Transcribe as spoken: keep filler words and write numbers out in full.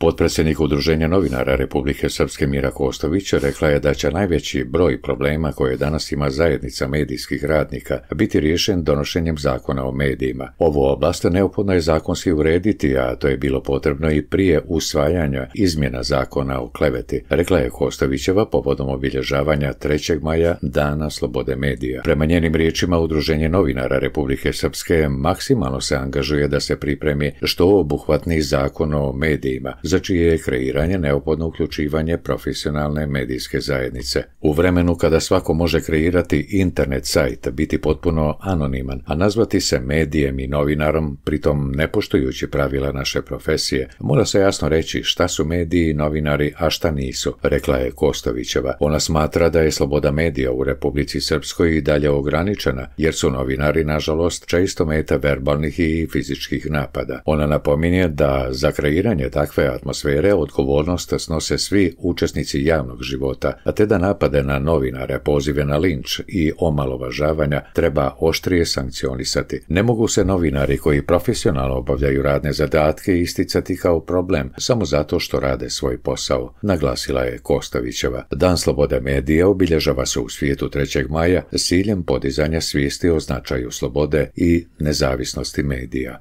Potpredsjednik Udruženja novinara Republike Srpske Mira Kostović rekla je da će najveći broj problema koje danas ima zajednica medijskih radnika biti riješen donošenjem zakona o medijima. Ovu oblast neophodno je zakonski urediti, a to je bilo potrebno i prije usvajanja izmjena zakona o kleveti, rekla je Kostovićeva povodom obilježavanja trećeg maja Dana slobode medija. Prema njenim riječima, Udruženje novinara Republike Srpske maksimalno se angažuje da se pripremi što obuhvatni zakon o medijima, za čije je kreiranje neophodno uključivanje profesionalne medijske zajednice. U vremenu kada svako može kreirati internet sajt, biti potpuno anoniman, a nazvati se medijem i novinarom, pritom ne poštujući pravila naše profesije, mora se jasno reći šta su mediji i novinari, a šta nisu, rekla je Kostovićeva. Ona smatra da je sloboda medija u Republici Srpskoj i dalje ograničena, jer su novinari, nažalost, često meta verbalnih i fizičkih napada. Ona napominje da za kreiranje takve atmosfere odgovornost snose svi učesnici javnog života, a te da napade na novinare, pozive na linč i omalovažavanja treba oštrije sankcionisati. Ne mogu se novinari koji profesionalno obavljaju radne zadatke isticati kao problem samo zato što rade svoj posao, naglasila je Kostovićeva. Dan slobode medija obilježava se u svijetu trećeg maja s ciljem podizanja svijesti o značaju slobode i nezavisnosti medija.